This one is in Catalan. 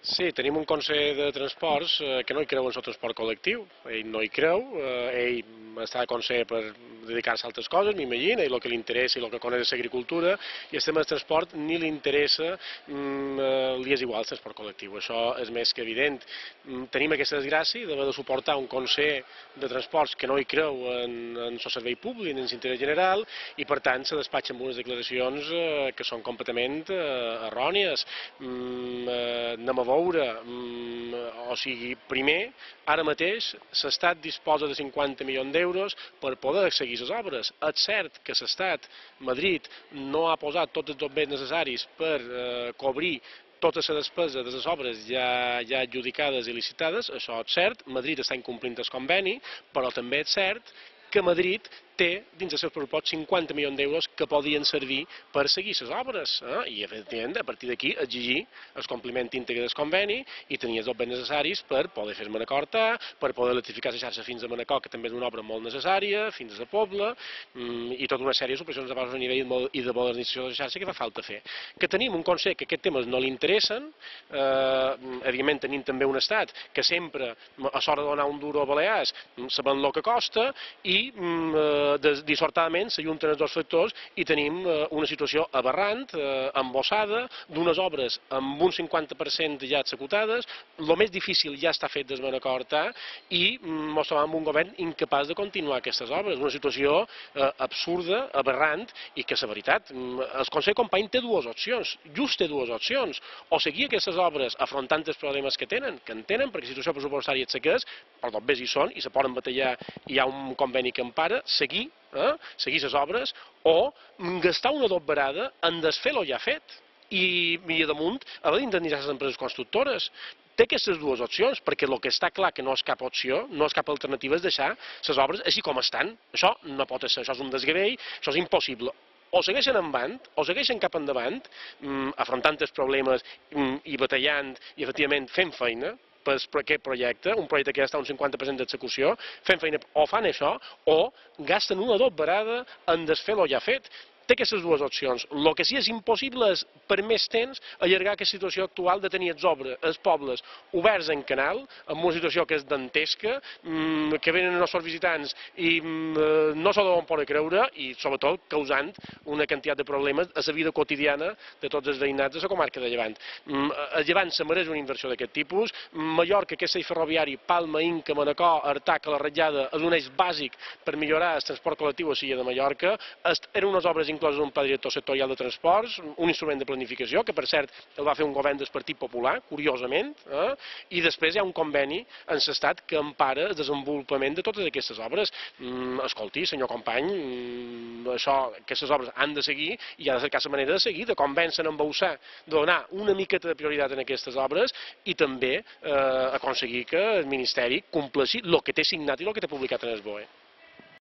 Sí, tenim un Consell de Transports que no hi creu en el transport col·lectiu. Ell no hi creu, ell està a Consell per dedicar-se a altres coses, m'imagina, i el que li interessa i el que coneix és l'agricultura, i el tema del transport ni li interessa, li és igual el transport col·lectiu, això és més que evident. Tenim aquesta desgràcia d'haver de suportar un Consell de Transports que no hi creu en el servei públic, en l'interès general, i per tant se despatxa amb unes declaracions que són completament errònies. Anem a veure, o sigui, primer, ara mateix l'Estat disposa de 50 milions d'euros per poder seguir les obres. És cert que l'Estat, Madrid, no ha posat tots els béns necessaris per cobrir tota la despesa de les obres ja adjudicades i licitades, això és cert, Madrid està incomplint el conveni, però també és cert que Madrid té dins dels seus pressupostos 50 milions d'euros que podien servir per seguir les obres. I, efectivament, a partir d'aquí, exigir el compliment íntegre del conveni i tenir els béns necessaris per poder fer Manacor, per poder electrificar la xarxa fins a Manacor, que també és una obra molt necessària, fins a Pobla, i tota una sèrie d'operacions de baix nivell i de modernització de la xarxa que fa falta fer. Que tenim un Consell que aquests temes no li interessen, evidentment tenim també un Estat que sempre, a l'hora de donar un duro a Balears, sabent el que costa, i dissortadament s'ajunten els dos factors i tenim una situació aberrant, embossada, d'unes obres amb un 50% ja executades, el més difícil ja està fet des Manacor i ens trobem amb un govern incapaç de continuar aquestes obres, una situació absurda, aberrant, i que la veritat, el Consell Company té dues opcions, just té dues opcions, o seguir aquestes obres afrontant els problemes que tenen, perquè la situació pressupostària és la que és, però tot bé hi són i se poden batallar, hi ha un conveni que empara, seguir les obres, o gastar una doblerada en desfer el ja fet i a damunt haver d'indemnitzar les empreses constructores. Té aquestes dues opcions, perquè el que està clar que no és cap opció, no és cap alternativa, és deixar les obres així com estan. Això no pot ser, això és un desgavell, això és impossible. O segueixen endavant, o segueixen cap endavant, afrontant els problemes i batallant i efectivament fent feina per aquest projecte, un projecte que ja està a un 50% d'execució, fent feina o fan això, o gasten una doblerada en desfer el ja fet. Té aquestes dues opcions. El que sí és impossible és, per més temps, allargar aquesta situació actual de tenir els pobles oberts en canal, amb una situació que és dantesca, que venen els nostres visitants i no s'ho deuen poder creure, i sobretot causant una quantitat de problemes a la vida quotidiana de tots els veïnats de la comarca de Llevant. A Llevant se mereix una inversió d'aquest tipus. Mallorca, aquest eix ferroviari, Palma, Inca, Manacor, Artà, la Ratllada, és un eix bàsic per millorar el transport col·lectiu a l'illa de Mallorca. Eren unes obres incloses en un pla director sectorial de transports, un instrument de planificació, que per cert el va fer un govern del Partit Popular, curiosament, i després hi ha un conveni en l'Estat que empara el desenvolupament de totes aquestes obres. Escolti, senyor company, aquestes obres han de seguir i ha de cercar la manera de seguir, de convèncer, embassar, de donar una miqueta de prioritat en aquestes obres i també aconseguir que el Ministeri compleixi el que té signat i el que té publicat en el BOE.